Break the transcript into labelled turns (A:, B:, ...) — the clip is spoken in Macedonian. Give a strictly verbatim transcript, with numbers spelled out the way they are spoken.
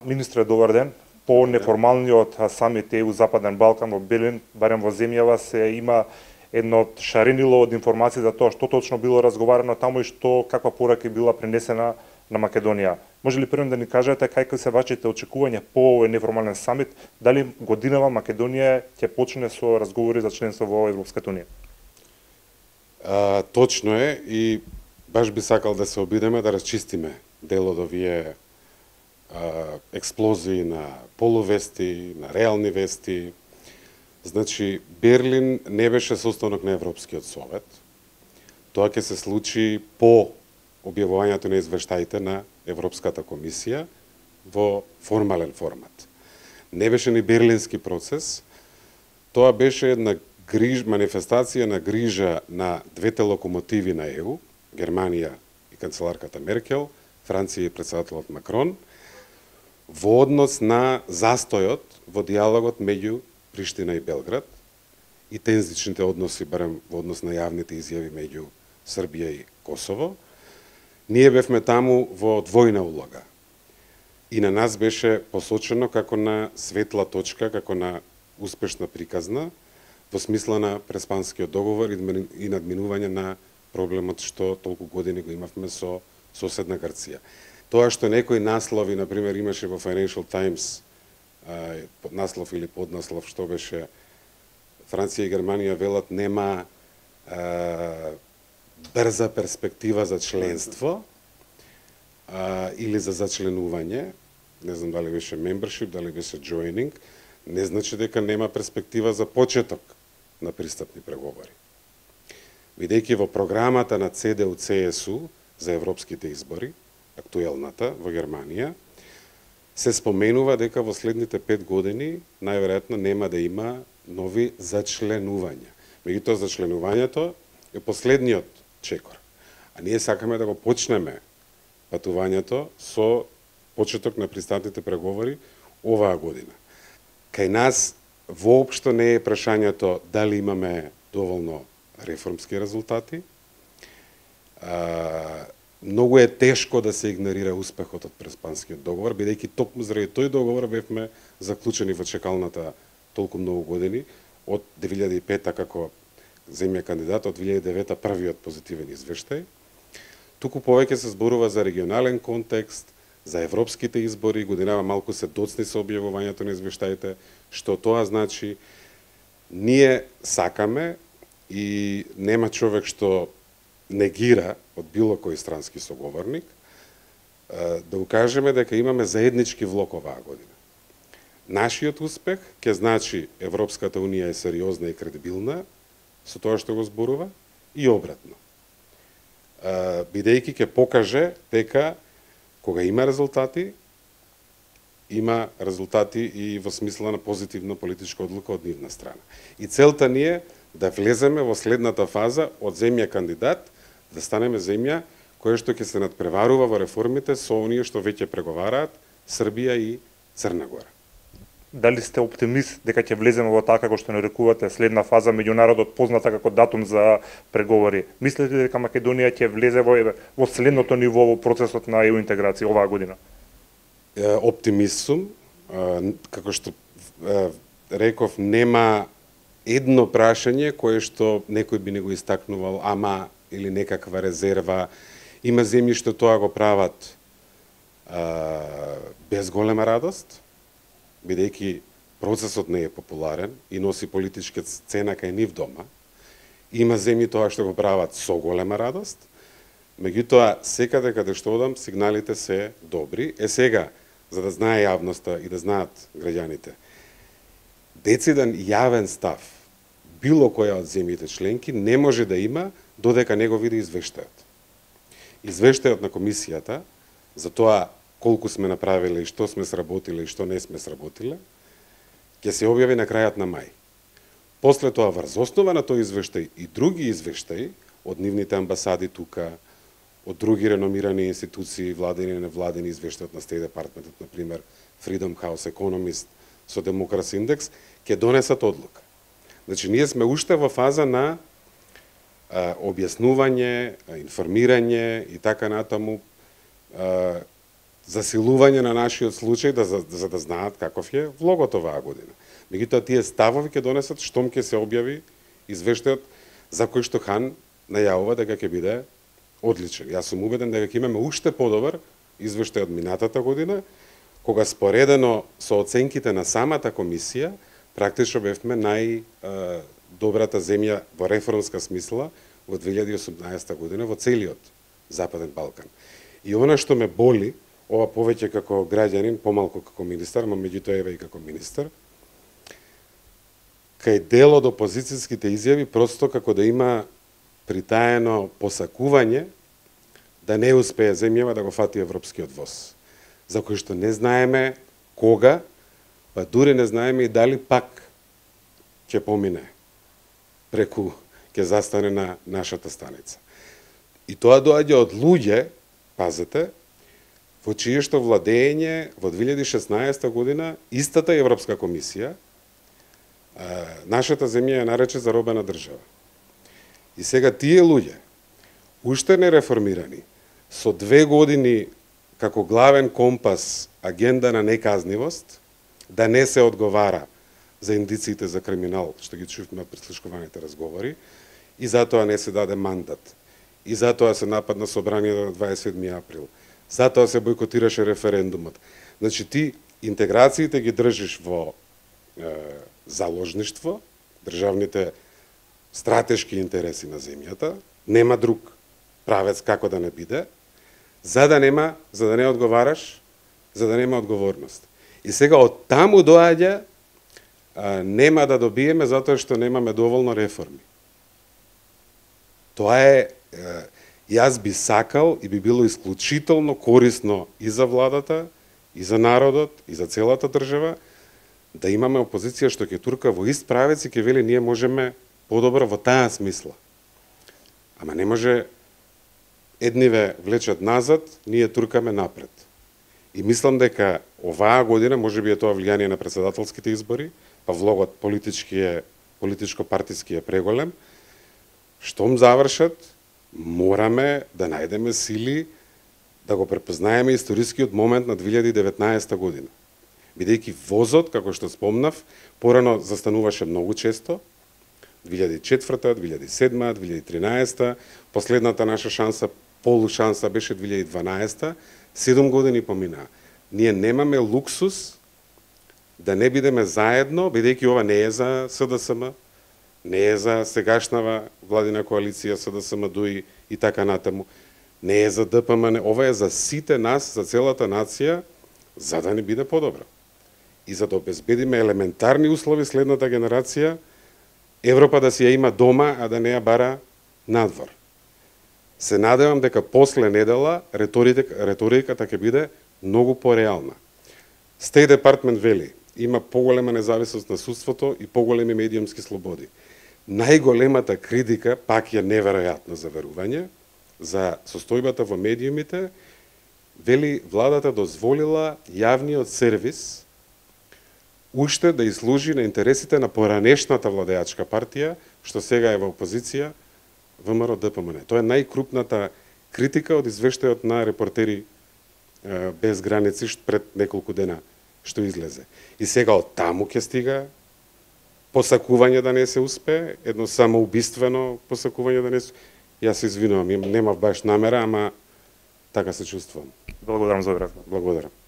A: Министре, добар ден. По неформалниот самит е у Западен Балкан во Белин, барем во земјава, се има едно шаренило од информации за тоа што точно било разговарано таму и што каква порака била пренесена на Македонија. Може ли првен да ни кажете какви се вашите очекувања по овој неформален самит? Дали годинава Македонија ќе почне со разговори за членство во Европската унија?
B: А, точно е и баш би сакал да се обидеме да расчистиме дел од овие експлозии на полувести, на реални вести. Значи, Берлин не беше состанок на Европскиот совет. Тоа ќе се случи по објавувањето на извештаите на Европската комисија во формален формат. Не беше ни берлински процес, тоа беше една гриж, манифестација на грижа на двете локомотиви на Е У, Германија и канцеларката Меркел, Франција и претседателот Макрон, во однос на застојот во диалогот меѓу Приштина и Белград и тензичните односи, барем во однос на јавните изјави меѓу Србија и Косово. Ние бевме таму во двојна улога. И на нас беше посочено како на светла точка, како на успешна приказна, во смисла на Преспанскиот договор и надминување на проблемот што толку години го имавме со соседна Грција. Тоа што некои наслови, например, имаше во Financial Times, наслов или поднаслов, што беше Франција и Германија велат нема а, брза перспектива за членство а, или за зачленување, не знам дали беше membership, дали беше joining, не значи дека нема перспектива за почеток на пристапни преговори. Бидејќи во програмата на Це Де У Це Е С У за европските избори, актуелната во Германија, се споменува дека во следните пет години најверојатно нема да има нови зачленувања. Меѓутоа зачленувањето е последниот чекор. А ние сакаме да го почнеме патувањето со почеток на пристапните преговори оваа година. Кај нас воопшто не е прашањето дали имаме доволно реформски резултати. А, Многу е тешко да се игнорира успехот од Преспанскиот договор, бидејќи токму заради тој договор бевме заклучени во чекалната толку многу години, од две илјади и пета како земја кандидат, од две илјади и девета првиот позитивен извештај. Туку повеќе се зборува за регионален контекст, за европските избори, годинава малку се доцни со објавувањето на извештаите, што тоа значи ние сакаме и нема човек што негира од било кој странски соговорник, да укажеме дека имаме заеднички влог оваа година. Нашиот успех ќе значи Европската унија е сериозна и кредибилна со тоа што го зборува и обратно. Бидејќи ќе покаже дека кога има резултати, има резултати и во смисла на позитивна политичка одлука од нивна страна. И целта ни е да влеземе во следната фаза од земја кандидат, да станеме земја која што ќе се надпреварува во реформите со оние што веќе преговараат Србија и Црна Гора.
A: Дали сте оптимист дека ќе влеземе во така како што нарекувате следна фаза меѓународот позната како датум за преговори? Мислите ли дека Македонија ќе влезе во, во следното ниво во процесот на Е У интеграција оваа година?
B: Оптимист сум. Како што реков, нема едно прашање кое што некој би не го истакнувал, ама или некаква резерва. Има земји што тоа го прават а, без голема радост, бидејќи процесот не е популарен и носи политичка цена кај нив дома. Има земји тоа што го прават со голема радост, меѓутоа секаде каде што одам сигналите се добри. Е сега, за да знае јавноста и да знаат граѓаните, дециден јавен став било која од земјите членки не може да има додека не го види извештајот. Извештајот на комисијата за тоа колку сме направиле и што сме сработиле и што не сме сработиле, ќе се објави на крајот на мај. После тоа, врз основа на тој извештај и други извештаи од нивните амбасади тука, од други реномирани институции, владени и невладени, извештајот на State Department, например Freedom House, Economist, со Democracy Index, ќе донесат одлука. Значи, ние сме уште во фаза на а, објаснување, информирање и така натаму, а, засилување на нашиот случај да, за, за да знаат каков е влогот оваа година. Меѓутоа тие ставови ќе донесат штом ќе се објави извештајот за кој што Хан најавува дека ќе биде одличен. Јас сум убеден дека ќе имаме уште подобар извештај од минатата година, кога споредено со оценките на самата комисија, практично бевме најдобрата земја во реформска смисла во две илјади и осумнаесета година во целиот Западен Балкан. И она што ме боли, ова повеќе како граѓанин, помалку како министар, но меѓутоа еве и како министар, кај дел од опозицијските изјави просто како да има притаено посакување да не успее земјава да го фати европскиот воз, за кој што не знаеме кога, па дури не знаеме и дали пак ќе помине преку, ќе застане на нашата станица. И тоа доаѓа од луѓе, пазете, во чие што владење во две илјади и шеснаесета година истата Европска комисија нашата земја ја нарече заробена држава. И сега тие луѓе, уште не реформирани, со две години како главен компас агенда на неказнивост, да не се одговара за индициите за криминал, што ги чувме од прислушкуваните разговори, и затоа не се даде мандат. И затоа се нападна собранието на дваесет и седми април. Затоа се бойкотираше референдумот. Значи ти интеграциите ги држиш во е, заложништво, државните стратешки интереси на земјата, нема друг правец како да не биде, за да нема, за да не одговараш, за да нема одговорност. И сега од таму доаѓа а, нема да добиеме затоа што немаме доволно реформи. Тоа е, е јас би сакал и би било исклучително корисно и за владата, и за народот, и за целата држава, да имаме опозиција што ќе турка во ист правец и ќе вели ние можеме подобро во таа смисла. Ама не може едниве влечат назад, ние туркаме напред. И мислам дека оваа година, може би е тоа влијание на председателските избори, па влогот политички е, политичко-партиски е преголем, штом завршат, мораме да најдеме сили да го препознаеме историскиот момент на две илјади и деветнаесета година. Бидејќи возот, како што спомнав, порано застануваше многу често, две илјади и четврта, две илјади и седма, две илјади и тринаесета, последната наша шанса, полушанса беше две илјади и дванаесета, седум години поминаа. Ние немаме луксус да не бидеме заедно, бидејќи ова не е за СДСМ, не е за сегашнава владина коалиција СДСМ, ДУИ и така натаму, не е за ДПМН, ова е за сите нас, за целата нација, за да не биде подобро. И за да обезбедиме елементарни услови следната генерација, Европа да си ја има дома, а да не ја бара надвор. Се надевам дека после недела реторика, реториката ќе биде многу пореална. State Department вели, има поголема независност на судството и поголеми медиумски слободи. Најголемата критика, пак е неверојатно за верување, за состојбата во медиумите, вели владата дозволила јавниот сервис уште да изслужи на интересите на поранешната владеачка партија, што сега е во опозиција, ВМРО ДПМН. Тоа е најкрупната критика од извештајот на Репортери без граници пред неколку дена што излезе. И сега од таму ќе стига посакување да не се успее, едно самоубиствено посакување да не се... Јас се извинувам, немав баш намера, ама така се чувствувам.
A: Благодарам за одговорот.
B: Благодарам.